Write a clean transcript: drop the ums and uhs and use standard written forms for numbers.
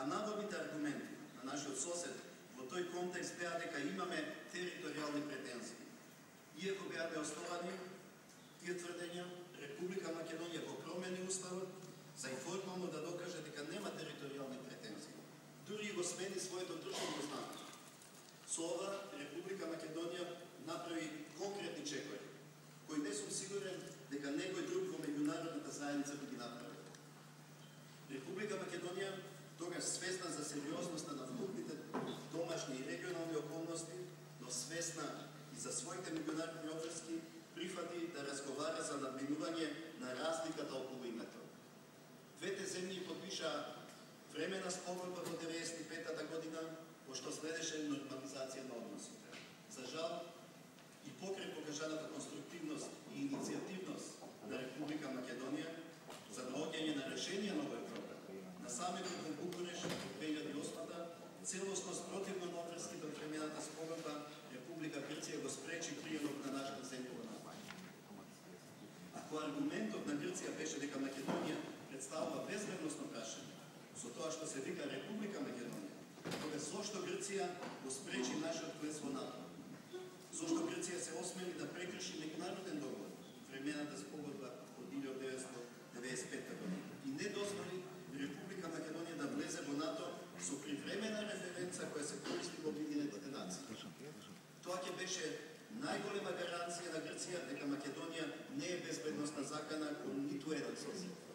А наводните аргументи на нашиот сосед во тој контекст беа дека имаме територијални претензии. Иако беа неосновани тие тврдења, Република Македонија го промени уставот за и формално да докаже дека нема територијални претензии. Дури го смени своето државно знание. Со ова Република Македонија направи конкретни чекори, кои не сум сигурен дека некој друг во меѓународната заедница би ги направил. Република Македонија тогаш свесна за сериозноста на вкупните домашни и регионални околности, но свесна и за своите меѓународни обврски, прифати да разговара за надминување на разликата околу името. Двете земји подпишаа времена спогодба во 1995 година, пошто следеше нормализација на односите. За жал, и покрај покажаната конструктивност и иницијативност на Република Македонија за наоѓање на решение на овој проблем, на самитот во Букуреш во 2008-та, целосно спротивно на обврските од времената спогодба, Република Грција го спречи приемот на нашата земја во НАТО. Ако аргументот на Грција беше дека Македонија представува безбедносно прашање, со тоа што се вика Република Македонија, тога зошто Грција го спречи нашиот влез во НАТО? Зошто Грција се осмели да прекрши меѓународен договор, времената спогодба од 1995 година, и не дозволи Република Македонија да влезе во НАТО со привремена референца која се користи во Обединетите нации. Тоа ќе беше најголема гаранција на Грција дека Македонија не е безбедносна закана кон ниту еден сосед.